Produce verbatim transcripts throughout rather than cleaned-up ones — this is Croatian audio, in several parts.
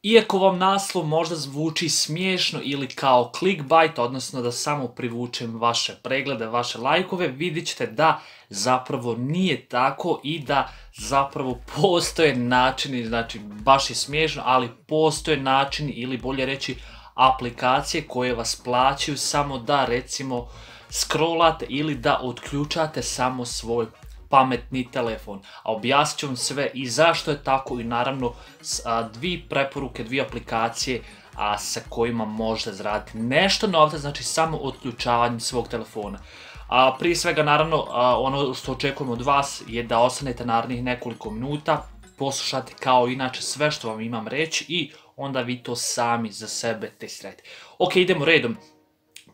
Iako vam naslov možda zvuči smiješno ili kao clickbait, odnosno da samo privučem vaše preglede, vaše lajkove, vidjet ćete da zapravo nije tako i da zapravo postoje načini, znači baš je smiješno, ali postoje načini ili bolje reći aplikacije koje vas plaćaju samo da recimo scrollate ili da otključate samo svoj pametni telefon. A objasnit ću vam sve i zašto je tako i naravno dvije preporuke, dvije aplikacije a, sa kojima možete zaraditi nešto novca, znači samo otključavanjem svog telefona. A, prije svega naravno a, ono što očekujem od vas je da ostanete narednih nekoliko minuta, poslušate kao inače sve što vam imam reći i onda vi to sami za sebe testirajte. Ok, idemo redom.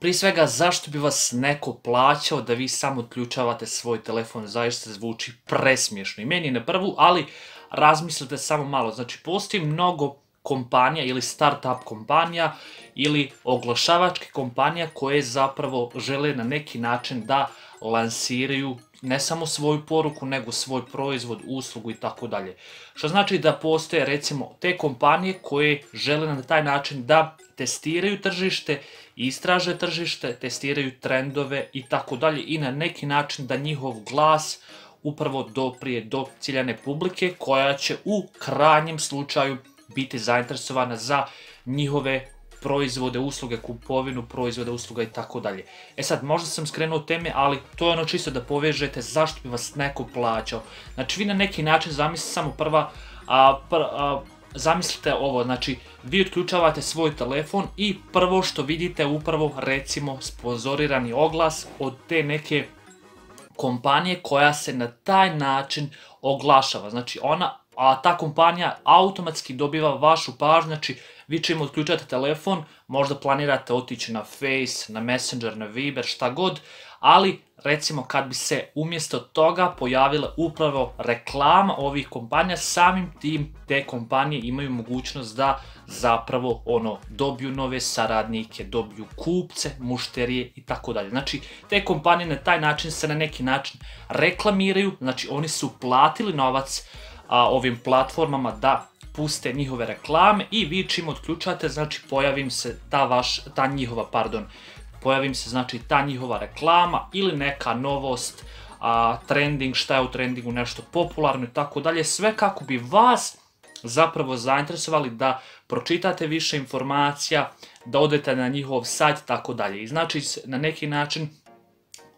Prije svega, zašto bi vas neko plaćao da vi samo otključavate svoj telefon, zaista zvuči presmiješno i meni na prvu, ali razmislite samo malo. Znači, postoji mnogo kompanija ili start-up kompanija ili oglašavačke kompanija koje zapravo žele na neki način da lansiraju ne samo svoju poruku, nego svoj proizvod, uslugu i tako dalje. Što znači da postoje recimo te kompanije koje žele na taj način da testiraju tržište, istraže tržište, testiraju trendove i tako dalje i na neki način da njihov glas upravo doprije do ciljane publike koja će u krajnjem slučaju biti zainteresovana za njihove proizvode, usluge, kupovinu, proizvode, usluga i tako dalje. E sad, možda sam skrenuo teme, ali to je ono čisto da povežete zašto bi vas neko plaćao. Znači, vi na neki način zamislite samo prva, a, pr, a, zamislite ovo, znači, vi otključavate svoj telefon i prvo što vidite upravo, recimo, sponzorirani oglas od te neke kompanije koja se na taj način oglašava. Znači, ona, a ta kompanija automatski dobiva vašu pažnju, znači, vi čim otključate telefon, možda planirate otići na Face, na Messenger, na Viber, šta god, ali recimo kad bi se umjesto toga pojavila upravo reklama ovih kompanija, samim tim te kompanije imaju mogućnost da zapravo ono dobiju nove saradnike, dobiju kupce, mušterije i tako dalje. Znači te kompanije na taj način se na neki način reklamiraju, znači oni su platili novac a, ovim platformama da puste njihove reklame i vi čim otključate, znači pojavim se ta vaš, ta njihova, pardon, pojavim se znači ta njihova reklama ili neka novost, a, trending, šta je u trendingu, nešto popularno i tako dalje, sve kako bi vas zapravo zainteresovali da pročitate više informacija, da odete na njihov sajt i tako dalje. I znači na neki način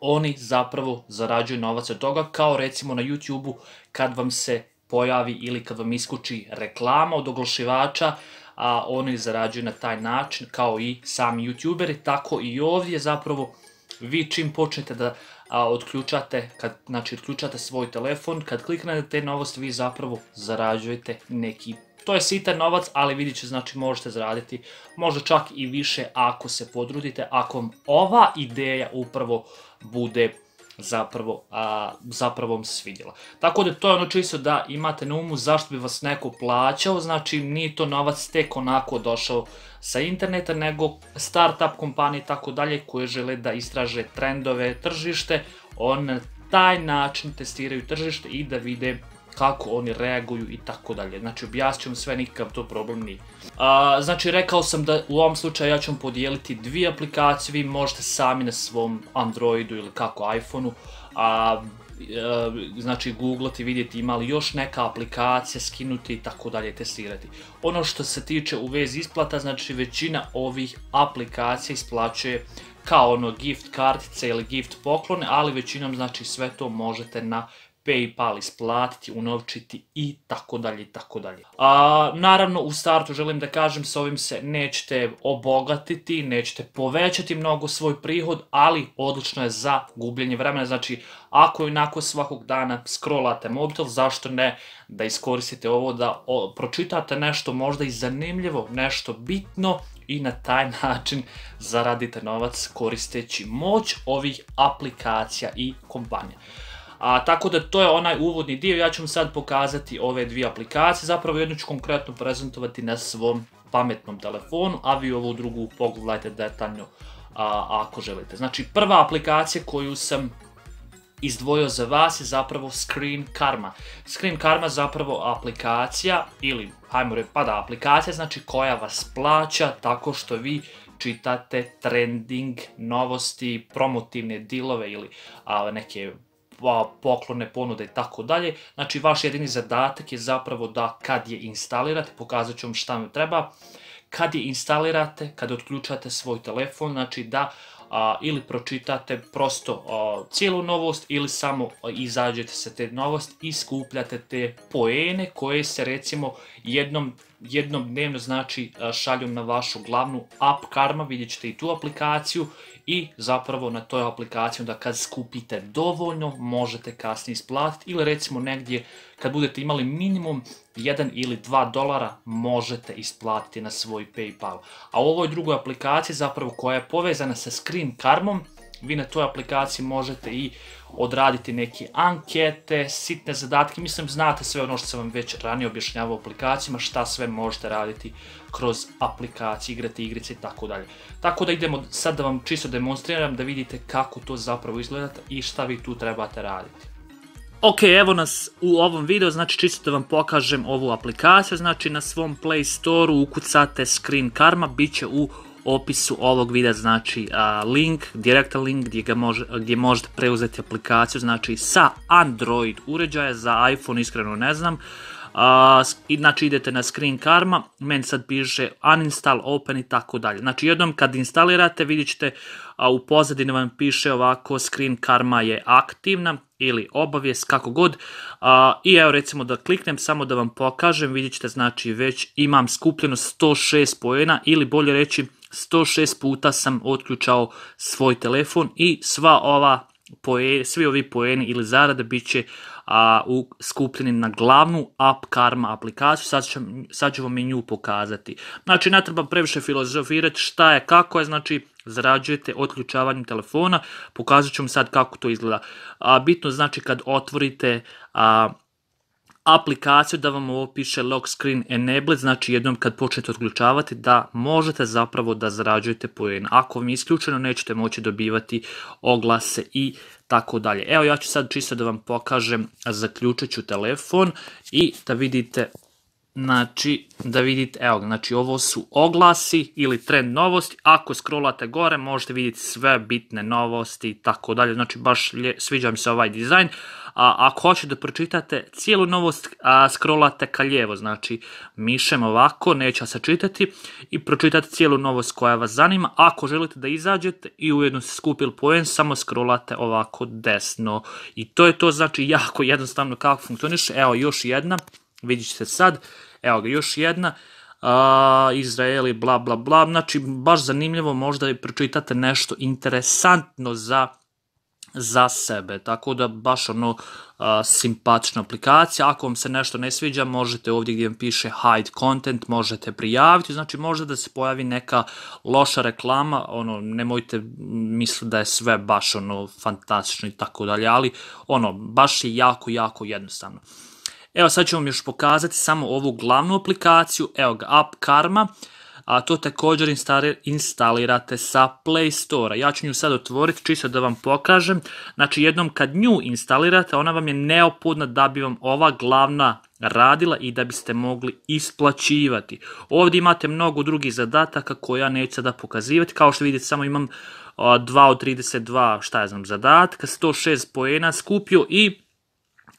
oni zapravo zarađuju novac od toga, kao recimo na YouTube-u kad vam se pojavi ili kad vam iskuči reklama od oglašivača, a oni zarađuju na taj način kao i sami youtuberi, tako i ovdje zapravo vi čim počnete da a, otključate, kad znači otključate svoj telefon, kad kliknete te novosti vi zapravo zarađujete neki, to je sitan novac, ali vidjet ćete, znači možete zaraditi možda čak i više ako se potrudite, ako vam ova ideja upravo bude zapravo, a, zapravo vam svidjela. Tako da to je ono čisto da imate na umu zašto bi vas neko plaćao, znači nije to novac tek onako došao sa interneta, nego start-up kompanije i tako dalje koje žele da istraže trendove, tržište, on na taj način testiraju tržište i da vide kako oni reaguju i tako dalje. Znači objasnit ću vam sve, nikakav to problem nije. A, znači rekao sam da u ovom slučaju ja ću vam podijeliti dvije aplikacije, vi možete sami na svom Androidu ili kako iPhoneu, a, a, znači googlati, vidjeti ima li još neka aplikacija, skinuti i tako dalje, testirati. Ono što se tiče u vezi isplata, znači većina ovih aplikacija isplaćuje kao ono gift kartice ili gift poklone, ali većinom znači sve to možete na PayPal isplatiti, unovčiti i tako dalje i tako dalje. A, naravno u startu želim da kažem s ovim se nećete obogatiti, nećete povećati mnogo svoj prihod, ali odlično je za gubljenje vremena. Znači ako onako svakog dana scrollate mobitel, zašto ne da iskoristite ovo da o, pročitate nešto možda i zanimljivo, nešto bitno i na taj način zaradite novac koristeći moć ovih aplikacija i kompanija. A, tako da to je onaj uvodni dio, ja ću vam sad pokazati ove dvije aplikacije, zapravo jednu ću konkretno prezentovati na svom pametnom telefonu, a vi ovu drugu pogledajte detaljno a, ako želite. Znači prva aplikacija koju sam izdvojio za vas je zapravo Screen Karma. Screen Karma je zapravo aplikacija ili, hajmo reći, pa da, aplikacija znači koja vas plaća tako što vi čitate trending, novosti, promotivne dilove ili a, neke a, poklone, ponude i tako dalje. Znači vaš jedini zadatak je zapravo da kad je instalirate, pokazat ću vam šta vam treba, kad je instalirate, kad otključate svoj telefon, znači da a, ili pročitate prosto a, cijelu novost ili samo a, izađete sa te novosti i skupljate te poene koje se recimo jednom, jednom dnevno znači a, šalju na vašu glavnu app Karma, vidjet ćete i tu aplikaciju i zapravo na toj aplikaciji da kad skupite dovoljno možete kasnije isplatiti ili recimo negdje kad budete imali minimum jedan ili dva dolara možete isplatiti na svoj PayPal. A u ovoj drugoj aplikaciji zapravo koja je povezana sa Screen Karmom, vi na toj aplikaciji možete i odraditi neke ankete, sitne zadatke, mislim znate sve ono što sam vam već ranije objašnjavao u aplikacijama, šta sve možete raditi kroz aplikacije, igrati igrice i tako dalje. Tako da idemo sad da vam čisto demonstriram da vidite kako to zapravo izgleda i šta vi tu trebate raditi. Ok, evo nas u ovom videu, znači čisto da vam pokažem ovu aplikaciju, znači na svom Play Store-u ukucate Screen Karma, bit će u opisu ovog videa, znači a, link, direktan link gdje, ga može, gdje možete preuzeti aplikaciju, znači sa Android uređaja, za iPhone iskreno ne znam. Uh, znači idete na Screen Karma, meni sad piše uninstall, open i tako dalje. Znači jednom kad instalirate vidjet ćete uh, u pozadini vam piše ovako Screen Karma je aktivna ili obavijest, kako god. Uh, I evo recimo da kliknem samo da vam pokažem, vidjet ćete znači već imam skupljeno sto šest poena ili bolje reći sto šest puta sam otključao svoj telefon i sva ova Poe, svi ovi poeni ili zarade bit će a, u, skupljeni na glavnu app Karma aplikaciju, sad, ću, sad ću vam i nju pokazati. Znači ne treba previše filozofirati šta je, kako je, znači zarađujete otključavanjem telefona, pokazat ću vam sad kako to izgleda. A, bitno znači kad otvorite a, aplikaciju da vam ovo piše Lock Screen Enabled, znači jednom kad počnete otključavati da možete zapravo da zarađujete poen. Ako vam je isključeno nećete moći dobivati oglase i tako dalje. Evo ja ću sad čisto da vam pokažem, zaključit ću telefon i da vidite, znači da vidite, evo znači ovo su oglasi ili trend novosti, ako scrollate gore možete vidjeti sve bitne novosti i tako dalje, znači baš sviđa mi se ovaj dizajn. A ako hoćete da pročitate cijelu novost, a, scrollate ka lijevo, znači mišem ovako, neće se čitati i pročitate cijelu novost koja vas zanima. Ako želite da izađete i ujedno se skupili poen, samo scrollate ovako desno. I to je to, znači jako jednostavno kako funkcioniše. Evo još jedna, vidjet ćete sad, evo ga još jedna. Uh, Izraeli, bla bla bla, znači baš zanimljivo, možda i pročitate nešto interesantno za za sebe, tako da baš ono uh, simpatična aplikacija. Ako vam se nešto ne sviđa možete ovdje gdje vam piše hide content možete prijaviti, znači možda da se pojavi neka loša reklama, ono nemojte misliti da je sve baš ono fantastično i tako dalje, ali ono baš je jako jako jednostavno. Evo sad ću vam još pokazati samo ovu glavnu aplikaciju, evo ga app Karma. A to također instalirate sa Play Store-a. Ja ću nju sad otvoriti čisto da vam pokažem. Znači jednom kad nju instalirate, ona vam je neophodna da bi vam ova glavna radila i da biste mogli isplaćivati. Ovdje imate mnogo drugih zadataka koje ja neću sada pokazivati. Kao što vidite samo imam dva od trideset dva, šta ja znam, zadatka, sto šest poena skupio i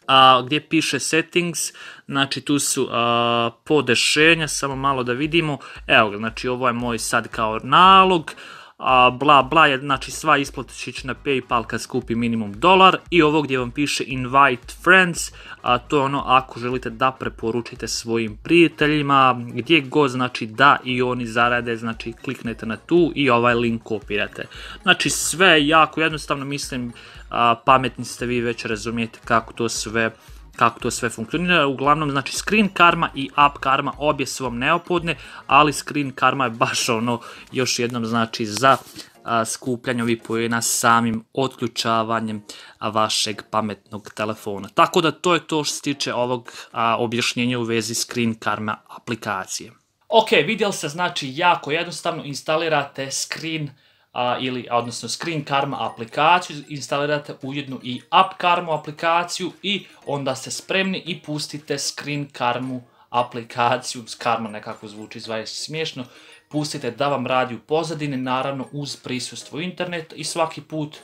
A, gdje piše settings, znači tu su a, podešenja, samo malo da vidimo, evo ga, znači ovo je moj sad kao nalog, a, bla bla, je, znači sva isplata će ići na PayPal kad skupi minimum dolar i ovo gdje vam piše invite friends, a, to je ono ako želite da preporučite svojim prijateljima, gdje god znači da i oni zarade, znači kliknete na tu i ovaj link kopirate. Znači sve jako jednostavno, mislim, a, pametni ste vi, već razumijete kako to sve kako to sve funkcionira. Uglavnom, znači Screen Karma i App Karma obje su vam neophodne, ali Screen Karma je baš ono još jednom znači za a, skupljanje ovih poena samim otključavanjem a, vašeg pametnog telefona. Tako da to je to što se tiče ovog a, objašnjenja u vezi Screen Karma aplikacije. Ok, vidjeli ste, znači jako jednostavno instalirate Screen a, ili, odnosno Screen Karma aplikaciju, instalirate ujedno i App Karma aplikaciju i onda ste spremni i pustite Screen Karmu aplikaciju, Karma nekako zvuči zaista smiješno, pustite da vam radi u pozadini, naravno uz prisustvo interneta i svaki put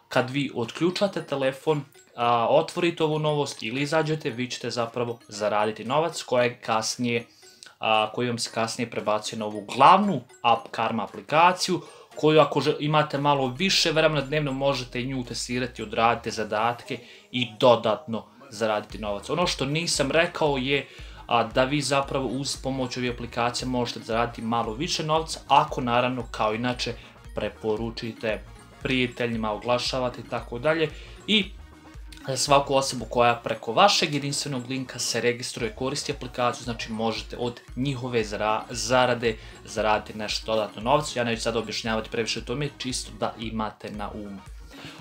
kad vi otključate telefon, a, otvorite ovu novost ili izađete, vi ćete zapravo zaraditi novac kojeg kasnije, a, koji vam se kasnije prebacuje na ovu glavnu App Karma aplikaciju, koju ako imate malo više vremena dnevno možete i nju testirati, odradite zadatke i dodatno zaraditi novac. Ono što nisam rekao je a, da vi zapravo uz pomoć ovih aplikacija možete zaraditi malo više novca, ako naravno kao inače preporučite prijateljima, oglašavate i tako dalje. I za svaku osobu koja preko vašeg jedinstvenog linka se registruje, koristi aplikaciju, znači možete od njihove zarade zaraditi nešto dodatno novca. Ja neću sad objašnjavati previše o tome, čisto da imate na umu.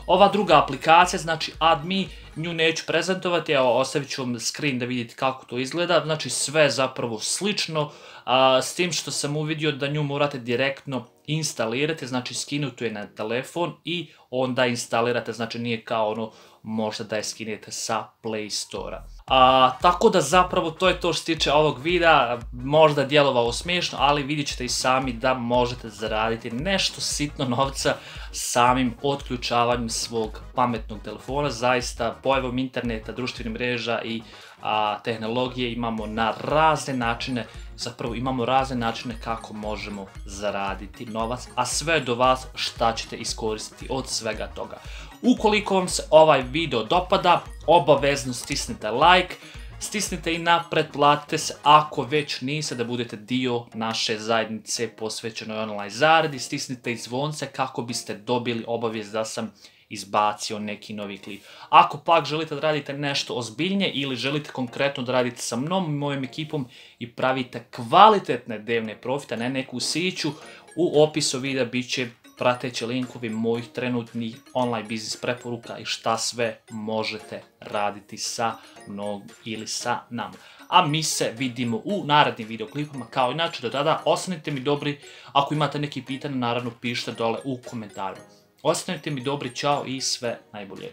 Ova druga aplikacija, znači AdMe, nju neću prezentovati, evo ostavit ću vam screen da vidite kako to izgleda, znači sve zapravo slično, a, s tim što sam uvidio da nju morate direktno instalirati, znači skinuti je na telefon i onda instalirate, znači nije kao ono možda da je skinete sa Play Store-a. A, tako da zapravo to je to što se tiče ovog videa, možda djelovalo smiješno, ali vidjet ćete i sami da možete zaraditi nešto sitno novca samim otključavanjem svog pametnog telefona. Zaista pojavom interneta, društvenih mreža i a, tehnologije imamo na razne načine, zapravo imamo razne načine kako možemo zaraditi novac, a sve do vas šta ćete iskoristiti od svega toga. Ukoliko vam se ovaj video dopada, obavezno stisnite like, stisnite i na pretplatite se ako već niste, da budete dio naše zajednice posvećenoj online zaradi, stisnite i zvonce kako biste dobili obavijest da sam izbacio neki novi klip. Ako pak želite da radite nešto ozbiljnije ili želite konkretno da radite sa mnom i mojom ekipom i pravite kvalitetne dnevne profite, ne neku siću, u opisu videa bit će prateći linkovi mojih trenutnih online biznis preporuka i šta sve možete raditi sa mnom ili sa nama. A mi se vidimo u narednim videoklipama, kao inače do tada ostanite mi dobri, ako imate neki pitanje naravno pišite dole u komentarima. Ostanite mi dobri, čao i sve najbolje.